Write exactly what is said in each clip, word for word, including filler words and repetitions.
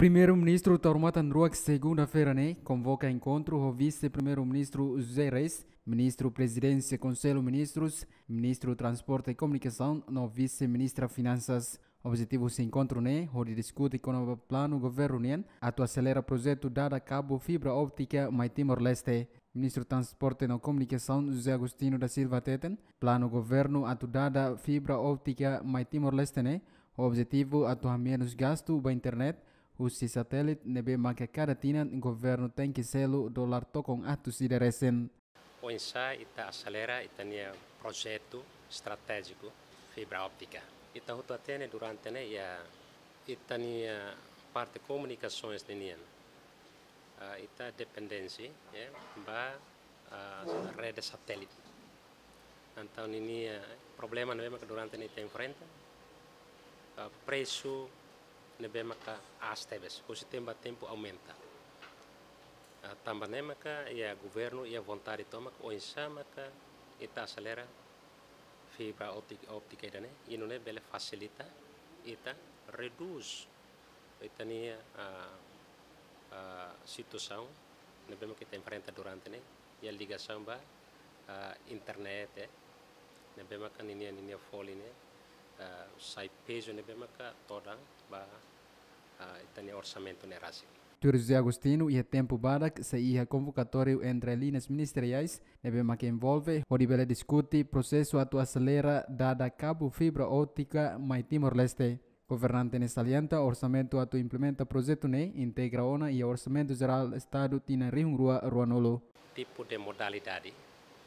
Primeiru-Ministru Taur Matan Ruak, segunda-feira ne'e, konvoka enkontru ho Vise-Primeiru-Ministru José Reis, Ministru Prezidénsia Konsellu Ministrus, Ministru Transporte e Komunikasaun no Vise-Ministra Finansas. Objetivu husi enkontru ne'e hodi diskute kona-ba planu governu nian atu aselera projetu dada kabu fibra óptika mai Timor-Leste. Ministru Transporte no Komunikasaun José Agostinho da Silva hateten, planu governu atu dada fibra óptika mai Timor-Leste ne'e ho objetivu atu hamenus gastu ba internet husi satélite ne'ebé maka kada tinan governu tenke selu dolar tokon atus ida resin. Oinsá ita aselera ita-nia projetu estratéjiku fibra óptika. Ita hotu hatene durante ne'e iha ita-nia parte komunikasoens ninian. Ah, ita dependénsia, ya, ba, ah, rede satélite. Entaun ninia problema ne'ebé maka durante ne'e ita enfrenta, ah, presu ne'ebé maka aas tebes, husi tempu ba tempu aumenta. Ah, tanba ne'e maka iha governu iha vontade tomak oinsá maka ita aselera fibra óptik-, óptika ida-ne'e, i nune'e bele fasilita ita redús ita-nia, ah, ah, situasaun ne'ebé maka ita enfrenta durante ne'e, iha ligasaun ba, ah, internet, eh, ne'ebé maka ninia, ninia folin ne'e, ah, sai pezu ne'ebé maka todan ba, ah, ita-nia orsamentu ne'e rasik. Tuir José Agostinho, iha tempu badak sei iha konvokatóriu entre liñas ministeriais ne'ebé maka envolve hodi bele diskute prosesu atu aselera dada kabu fibra óptika mai Timor-Leste. Governante ne'e salienta orsamentu atu implementa projetu ne'e integra ona iha Orsamentu Jerál Estadu tinan rihun rua ruanulu. Tipu de modalidade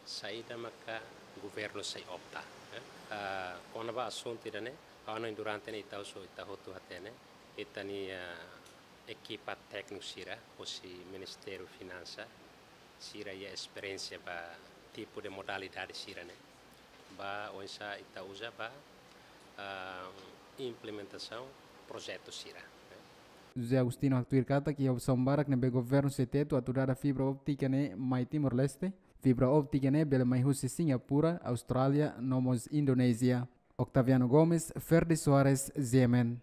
saida maka governu sei opta, eh? Ah, kona-ba asuntu ida-ne'e, ha'u hanoin durante ne'e ita husu, ita hotu hatene, ita-nia, ah, ekipa tékniku sira husi Ministériu Finansa, sira iha esperiénsia ba tipu de modalidade sira-ne'e, ba oinsá ita uza ba, ah, implementasaun projetu sira, eh. José Agostinho haktuir katak iha opsaun barak ne'ebé governu sei tetu atu dada fibra óptika ne'e mai Timor-Leste. Fibra óptika ne'e bele mai husi Singapura, Austrália, no mós Indonézia. Octaviano Gomes, Ferdi Soares, G M N.